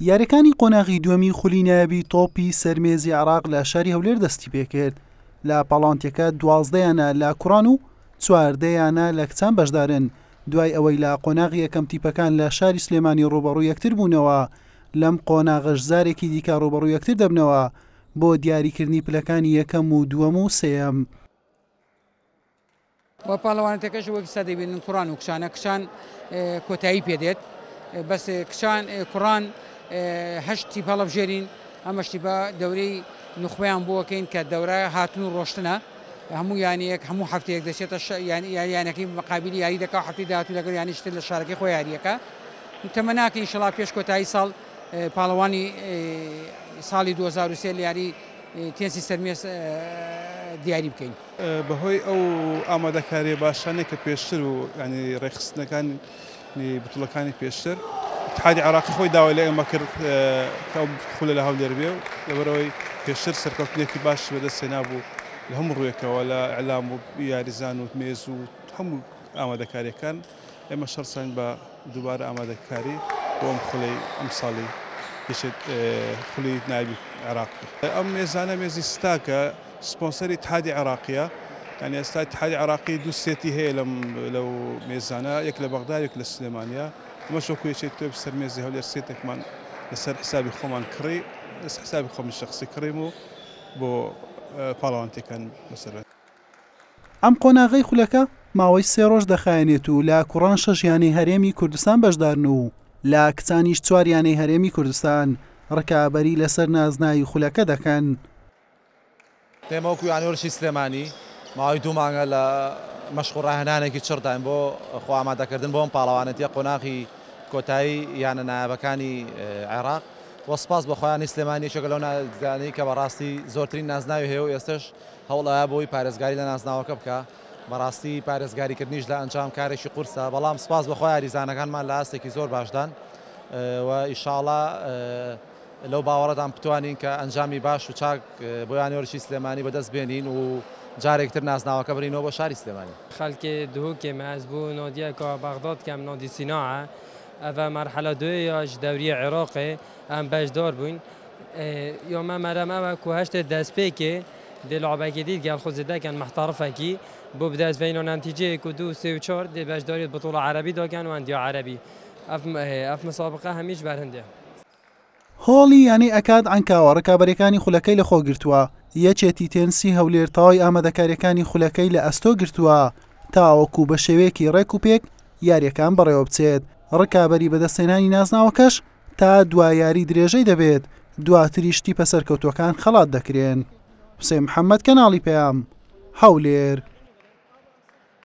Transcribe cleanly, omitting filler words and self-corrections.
یاریەکانی قۆناغی دووەمی خولی نایابی تۆپی سەر مێزی عێراق لە شاری هەولێر دەستیپێکرد، لە پاڵاوانتیەکە 12 یانە لە کوڕان و 14 یانە لە کچان بەشدارن، دوای ئەوەی لە قۆناغی یەکەم تیپەکان لە شاری سلێمانی ڕووبەڕوو یەکتر بوونەوە، لەم قۆناغەش جارێکی دیکە ڕووبەڕوو یەکتر دەبنەوە بۆ دیاریکردنی پلەکانی یەکەم و دووەم و سێیەم. و پاڵەوانێتەکەش وەک ئێستا دەیبینن کوڕان و کچانە، کچان کۆتایی پێدێت بەس کچان کوڕان هەشت تیپ هەڵەبژێرین، ئەمەش تیپە دەورەی نوخبەیان بۆکەین کە دەورە هاتن و ڕۆشتنە، هەموو یانەیەک هەموو هەفتەیەک دەچێتە یانەکەی مقابلی یاری دەکا و هەفتەی داهاتوو لەگەڵ یانەی تر لە شارەکەی خۆی یاریەکە. تەمەناکەین ئینشەڵا پێش کۆتایی ساڵ پاڵەوانی ساڵی 2003 لە یاری تێنسی سەرمێز دیاری بکەین. بەهۆی ئەو ئامادەکاریە باشانەی کە پێشتر و ینی ڕێکخستنەکانی بتوڵەکانی پێشتر اتحادی عراقی خۆی داوای لە ئێمە کرد کە ئەو خولە لە هەولێر بێ و لەبەرئەوەی پێشتر سەرکەوتنێکی باش بەدەست هێنابوو لە هەموو ڕوویەکەوە لە ئیعلام و یاریزان و مێز و هەموو ئامادەکاریەکان ئێمە شەڕساین بە دووبارە ئامادەکاری بۆ ئەم خولەی ئەمساڵی یەکێت خولی نایابی عێراق. ئەم مێزانە مێزی ستاکە سپۆنسەری ئیتحادی عێراقیە یانی ئێستا ئیتحادی عێراقی دوو سێتی هەیە لەم لەو مێزانە یەک لە بەغدا یەک لە سلێمانە ئەمەش وەکو یەکێتی تۆپی سەر مێزی هەولێر سێتێکمان لەسەر حسابی خۆمان کڕی لەسەر حسابی خۆمی شەخسی کڕیم و بۆ پاڵەوانتیەکان لەسەر ئەم قۆناغەی خولەکە ماوەی سێ ڕۆژ دەخایەنێت و لە کوڕان شەش یانەی هەرێمی کوردستان بەشدارن و لە کچانیش چوار یانەی هەرێمی کوردستان ڕکابەری لەسەر نازناوی خولەکە دەکەن. ئێمە وەکو یانەی وەرزشی سلێمانی ماوەی دوو مانگە لە مەشق و ڕاهێنانێکی چڕداین بۆ خۆ ئامادەکردن بۆ ئەم پاڵەوانێتیە قۆناغی کۆتایی یانە نایابەکانی عێراق و سپاس بۆ خوا یانەی سلێمانی یەکێکە لەو نادیانەی کە بەڕاستی زۆرترین نازناوی هەیە و ئێستەش هەوڵ ئەیا بۆی پارێزگاری لە نازناوەکە بکا، بەڕاستی پارێزگاریکردنیش لە ئەنجام کارێکی قورسە، بەڵام سوپاس بۆ خوا یاریزانەکانمان لە ئاستێکی زۆر باشدان و ئیشاڵا لەو باوەڕەدام بتوانین کە ئەنجامی باش و چاک بۆ یانەی وەرزشی سلێمانی بەدەست بێنین و جارێکتر نازناوەکە بەرینەوە بۆ شاری سلێمانی. خەلکێ دهۆکێ me ez bo nadieka Bexdad dikem Nadî Sînaa ev e merhela duê ya ji dewriyê Iraqê em beşdar bûyn. Ya me merem ew e ku heştê destpêkê dê labekê dî gel xwe zêde ken mihterifekî bo bi dest veyna netîceyê ku du, sê û çar dê beşdarî di bitola erebî de ken û endiya erebî. Ev ev misabiqe hemî ji ber hindê ye. هۆڵی یانەی ئەکاد عەنکاوە ڕکابەریەکانی خولەکەی لەخۆگرتووە، یەکێتی تێنسی هەولێر تەواوی ئامادەکاریەکانی خولەکەی لە ئەستۆ گرتووە تاوەکو بە شێوەیەکی ڕێک و پێک یاریەکان بەڕێوەبچێت، ڕکابەری بەدەستهێنانی نازناوەکەش تا دوا یاری درێژەی دەبێت، دواتریش تیپە سەرکەوتووەکان خەڵات دەکرێن. حوسێن محەمەد، کەناڵی پەیام، هەولێر.